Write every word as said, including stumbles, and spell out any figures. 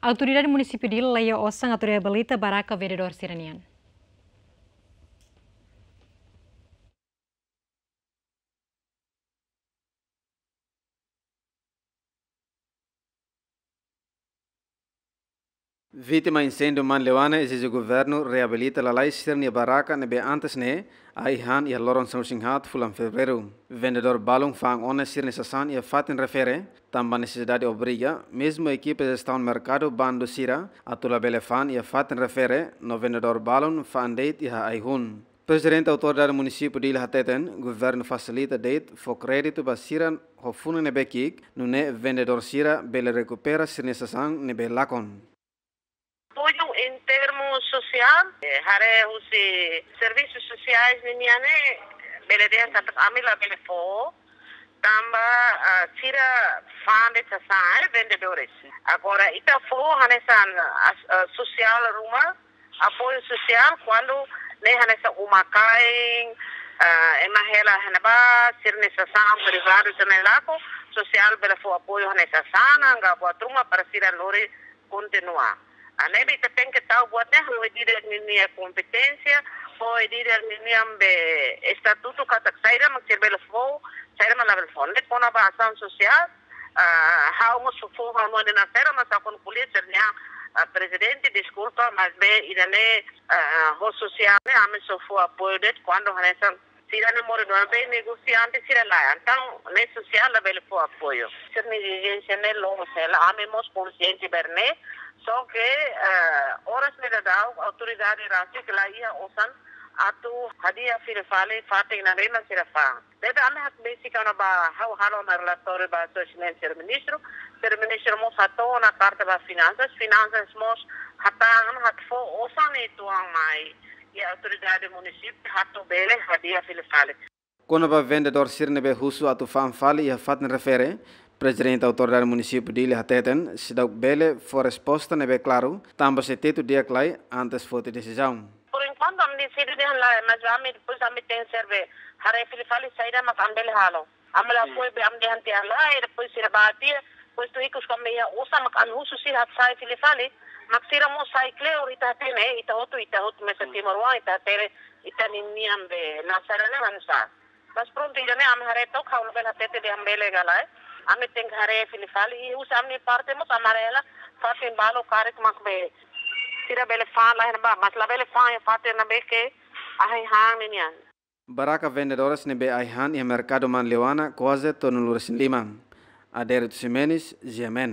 Autoridade Munisípiu Dili laiha osan atu reabilita baraka vendedór sira-nian. Vítima inséndiu Manleuana ezije governu reabilita lalais sira-nia baraka ne'ebé antes ne'e ai-han iha loron sanulu-resin-haat fulan Fevereiru. Vendedór balun fa'an ona sira-nia sasán iha fatin refere, tanba nesesidade obriga, mezmu ekipa jestaun merkadu bandu sira atu labele fa'an iha fatin refere, no vendedór balun fa'an de'it iha ai-hun. Prezidente Autoridade Munisípiu Dili hateten, governu fasilita de'it fó kréditu ba sira ho funan ne'ebé ki'ik, nune'e vendedór sira bele rekupera sira-nia sasán ne'ebé lakon. Apoiu em termos sosiál, eh, haree husi servisu sosiais ninian ne'e, bele dehan katak ami labele fó, tanba, ah, sira fa'an de'it sasán, eh, vendedores. Agora, ita fó hanesan, ah, ah, sosiál ruma, apoiu sosiál, kuandu ne'e hanesan uma-kain, ah, ema hela iha ne'ebá, sira-nia sasán privadu ita-nia lakon, sosiál bele fó apoiu hanesan sanan, ka buat ruma para sira lori kontinua. Ah, ne'ebé ita tenke tau buat ne'e, ho líder ninia kompeténsia, ho líder ninia be estatutu katak saida mak sira bele fó, saida mak labele fó. Ne'e kona-ba asaun sosiál, ah, ha'u mós fó, ha'u mós de nasera, mas ha'u kuandu ko'alia sira-nia, ah, prezidente, deskulpa, maibé ida-ne'e, ah, ho sosiál ne'e, ami só fó apoiu de'it kuandu hanesan sira-nia moris-oan be negosiante sira laiha. Entaun, ne'e sosiál labele fó apoiu. Sira-nia ezijénsia ne'e loos hela, ami mós konsiente ba ne'e. Só ke, eh, oras ne'e daudaun, autoridade rasik laiha osan atu hadi'a fila fali fatin ne'ebé mak sira fa'an. Ne'ebé ami hakbesik kona-ba ha'u halo ona relatóriu ba Sua Exelénsia Ministru, Sua Ministru mós hato'o ona karta ba Finansas, Finansas mós hatán atu fó osan ne'e uitoan mai iha autoridade munisípiu atu bele hadi'a fila fali. Kona-ba vendedór sira ne'ebé husu atu fa'an fali iha fatin refere, Prezidente Autoridade Munisípiu Dili hateten, seidauk bele fó resposta ne'ebé klaru, tanba sei tetu di'ak lai antes foti desizaun. Por enkuantu, ami deside dehan lae, mas ami depois ami tenke serve haree fila fali saida mak ami bele halo. Ami la, hmm, apoiu be ami dehan tiha lae, depois sira bá tiha, depois tuir ikus kami iha osan mak ami husu sira atu sai fila fali, mak sira mós sai kleur, ita hatene, ita hotu, ita hotu mesak, hmm, timoroan, ita hatene, ita ninian be nasara ne'e hanu'usá. Mas prontu, ida-ne'e ami haree took, ha'u labele hatete dehan bele ka lae. Ami tenke haree fila fali, i husi ami parte mós ami haree hela fatin balu karik mak be sira bele fa'an iha ne'ebá, mas labele fa'an iha fatin ne'ebé ke ai-han ninian. Baraka vendedores ne'ebé ai-han iha merkadu Manleuana kuaze tolunulu-resin-lima. Adérito Ximenes, G M N.